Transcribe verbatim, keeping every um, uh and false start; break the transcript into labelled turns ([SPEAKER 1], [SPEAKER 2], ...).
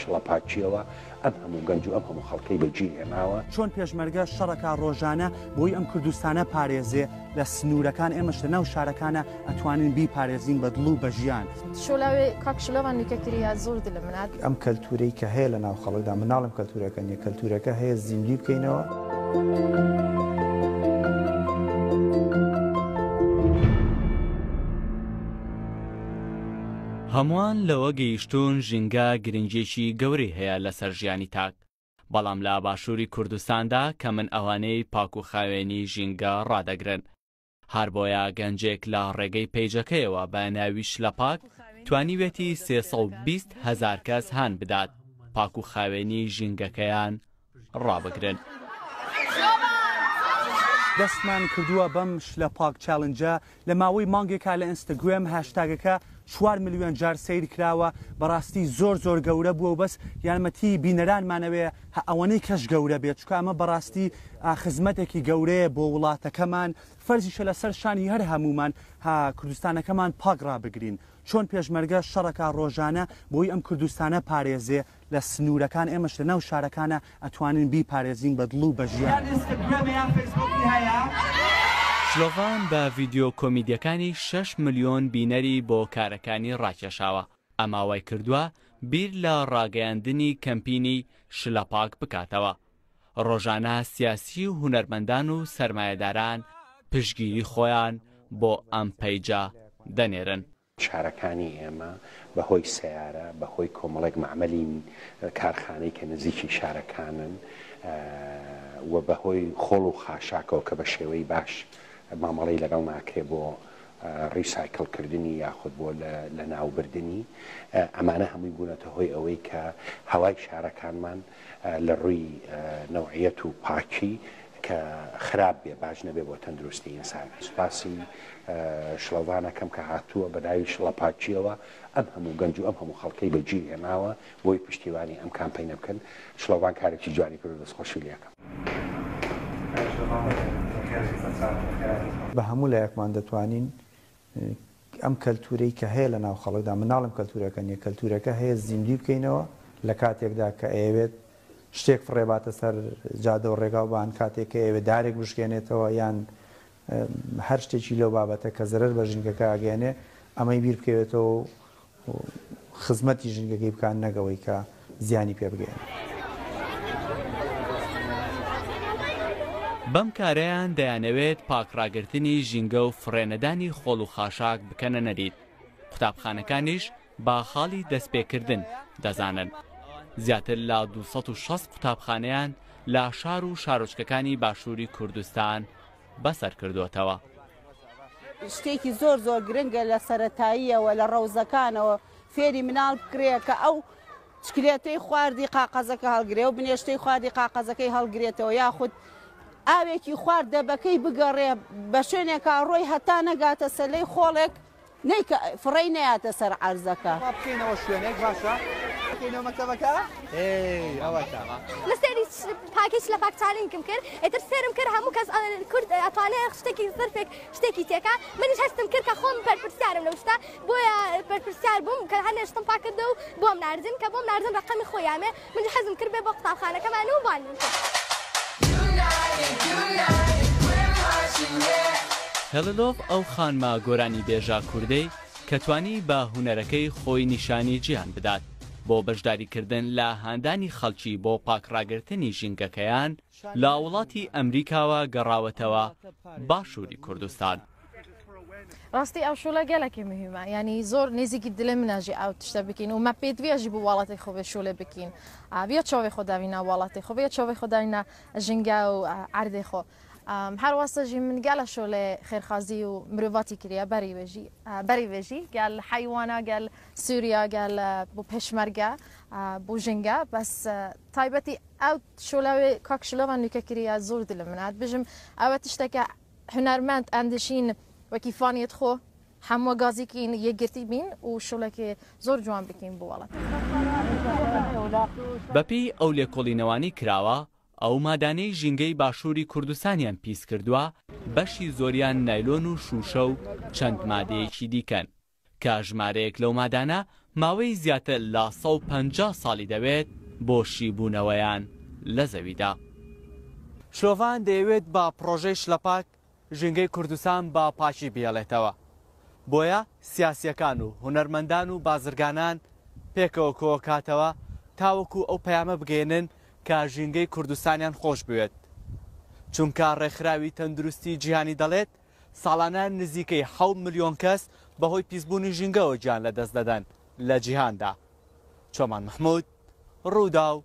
[SPEAKER 1] شڵەپاکیەوە ئەم هەموو گەنج و ئەم هەموو خەڵکەی بەجی هێناوە.
[SPEAKER 2] چۆن پێشمەرگە شەڕەکە ڕۆژانە بۆی ئەم کوردستانە پارێزێ لە سنوورەکان، ئێمەش لە ناو شارەکانە ئەتوانین بیپارێزین بە دڵ و بە ژیان.
[SPEAKER 3] شۆلاوێ کاک شلۆڤان نوکەکریە زۆر دلم منات.
[SPEAKER 4] ئەم کەلتورەی کە هەیە لە ناو خەڵکدا، مناڵم کەلتورەکە نییە، کەلتورەکە هەیە زیندوی بکەینەوە.
[SPEAKER 5] هەمووان لەوە گەیشتون ژینگە گرنگێکی گەورەی هەیە لەسەر ژیانی تاک، بەڵام لە باشووری کوردستاندا کە من ئەوانەی پاک و خاوێنی ژینگە ڕادەگرن. هەر بۆیە گەنجێک لە ڕێگەی پەیجەکەیەوە بە ناوی شلەپاک توانیوێتی سێ سەد و بیست هەزار کەس هان بدات پاک و خاوێنی ژینگەکەیان ڕابگرن.
[SPEAKER 2] دەستمان کردووە بەم شلەپاک challenge ە لە ماوەی مانگێکا لە ئینستاگرام هاشتاگەکە چوار ملیۆن جار سەیر کراوە. بەڕاستی زۆر زۆر گەورە بووە و بەس یارمەتی بینەرانمانەوێ ئەوەنەی کەش گەورە بێت، چونکە ئەمە بەڕاستی خزمەتێکی گەورەیە بۆ وڵاتەکەمان. فەرزیشە لەسەر شانی هەر هەمومان ها کوردستانەکەمان پاک ڕابگرین. چۆن پێشمەرگە شەڕەکە ڕۆژانە بۆی ئەم کوردستانە پارێزێ لە سنوورەکان، ئێمەش لە ناو شارەکانە ئەتوانین بیپارێزین بە دڵ و بە ژیان.
[SPEAKER 5] شلۆڤان بە ڤیدیۆ کۆمیدیەکانی شەش ملیۆن بینەری بۆ کارەکانی ڕاکێشاوە. ئەما وای کردووە بیر لە ڕاگەیاندنی کەمپینی شلەپاک بکاتەوە. ڕۆژانە سیاسی و هونەرمەندان و سەرمایەداران پشتگیری خۆیان بۆ ئەم پەیجە دەنێرن.
[SPEAKER 1] شارەکانی ئێمە بەهۆی سیارە، بەهۆی کۆمەڵێک معمەلی کارخانەی کە نزیکی شارەکانن و بەهۆی خۆڵ و خاشاکەوە کە بە شێوەی باش مامەڵەی لەگەڵ ناکرێ بۆ ڕیسایکلکردنی یاخود بۆ لە ناوبردنی، ئەمانە هەمووی بوونەتە هۆی ئەوەی کە هەوای شارەکانمان لە ڕووی نەوعیەت و پاکی کە خراپ بێ، باش نەبێ بۆ تەندروستی ئینسان. سوپاسی شڵەوانەکەم کە هاتووە بە ناوی شڵەپاکیەوە ئەم هەموو گەنج و ئەم هەموو خەڵکەی بەجی هێناوە بۆی پشتیوانی ئەم کامپەینە بکەن. شڵەوان کارێکی جوانی کرد، دەستخۆشی لێکەم.
[SPEAKER 4] بە هەموو لایەکمان دەتوانین ئەم کەلتورەی کە هەیە لە ناو خەڵکدا، مناڵم کەلتورەکە نییە، کەلتورەکە هەیە زیندوی بکەینەوە لە کاتێکدا کە ئەیەوێت شتێک فڕێباتە سەر جادە و ڕێگاوبان، کاتێک کە ئەیەوێت دارێک بشکێنێتەوە یان هەر شتێکی لەو بابەتە کە زەرەر بە ژینگەکە ئەگەیەنێ، ئەمەی بیر بکەوێتەوە و خزمەتی ژینگەکەی بکان نەگەوەی کە زیانی پێ بگەیەنێ.
[SPEAKER 5] بەم کارەیان دەیانەوێت پاکڕاگرتنی ژینگە و فڕێنەدانی خۆڵ و خاشاک بکەنە نەریت. قوتابخانەکانیش با خاڵی دەستپێکردن دەزانن. زیاتر لە دوو سەد و شەست قوتابخانەیان لە شار و شارۆچکەکانی باشووری کوردستان بەسەر کردووەتەوە.
[SPEAKER 6] شتێکی زۆر زۆر گرنگە لە سەرەتاییەوە لە ڕەوزەکانەوە فێری مناڵ بکرێ کە ئەو چکلێتەی خواردی قاقەزەکە هەڵگرێ و بنێشتەی خواردی قاقەزەکەی هەڵگرێتەوە، یاخود ئاوێکی خوارد دەبەکەی بگەڕێ بە شوێنێکا ڕۆی هەتا نەگاتە سەلەی خۆڵێک نەیکە فڕێی نەیاتە سەر عەرزەکە.
[SPEAKER 7] بکەینەوە شوێنێک باشە؟ بکەینەوە مەکتەبەکە؟ ئێی، ئەوەتە.
[SPEAKER 8] لە سێری پاکیش لە پاک چالینکم کرد، ئیتر سێرم کرد هەموو کەس کورد ئەتوانێت شتێکی زرفێک شتێکی تێکا. منیش هەستم کرد کە خۆم بەرپرسیارم لەو شتە، بۆیە بەرپرسیار بووم کە هەنێ شتم پاک کردە و بۆم ناردن، کە بۆم ناردن ڕەقەمی خۆیانێ. منیش حەزم کرد بێ بۆ قوتابخانەکەمان و بانگم کرد.
[SPEAKER 5] هێڵلۆڤ ئەو خانمە گۆرانی بێژە کوردەی کە توانی بە هونەرەکەی خۆی نیشانی جیهان بدات بۆ بەشداریکردن لە هاندانی خەڵکی بۆ پاکڕاگرتنی ژینگەکەیان لە وڵاتی ئەمریکاوە گەڕاوەتەوە باشووری کوردستان.
[SPEAKER 3] ڕاستی ئەو شوڵە گەلێکی مهمە، یعنی زۆر نزیکی دلێ مناژی ئەو تشتە بکەین و مە پێدویەژی بۆ وڵاتی خۆ بێ شوڵێ بکەین. بیا چاوی خۆ داوینا وڵاتی خۆ، بیا چاوی خۆ داوینا ژینگە و عەردێ خۆ. هەر واسە ژی من گەلە شوڵێ خێرخازی و مرۆڤاتی کریە بەری وێژی، بەری وێژی گەل حیوانە، گەل سووریا، گەل بۆ پێشمەرگە، بۆ ژینگە. بەس تایبەتی ئەو شوڵەوێ کاک شلۆڤان نوکە کریە زۆر دلم منات بژم ئەوە تشتێکە هونەرمەند ئەندشین وەکی فانیت خۆ هەموو گازێکین یەکگرتی بین و شوڵێکی زۆر جوان بکەین بۆ وڵات.
[SPEAKER 5] بەپێی ئەو لێکۆڵینەوانی کراوە، ئەو مادانەی ژینگەی باشووری کوردستانیان پیس کردووە بەشی زۆریان نایلۆن و شوشە و چەند مادەیەکی دیکەن کە ژمارەیەک لەو مادانە ماوەی زیاتر لە سەد و پەنجا ساڵی دەوێت بۆ شیبوونەوەیان لە زەویدا. شلۆڤان دەیەوێت بە پڕۆژەی شلەپاک ژینگەی کوردستان بە پاکی بهێڵێتەوە، بۆیە سیاسییەکان و هونەرمەندان و بازرگانان پێکەوە کۆکاتەوە تاوەکو ئەو پەیامە بگەیەنن کە ژینگەی کوردستانیان خۆش بوێت، چونکە ڕێکخراوی تەندروستی جیهانی دەڵێت ساڵانە نزیکەی حەوت ملیۆن کەس بەهۆی پیسبوونی ژینگەوە گیان لەدەست دەدەن لە جیهاندا. چۆمان محمود، ڕووداو،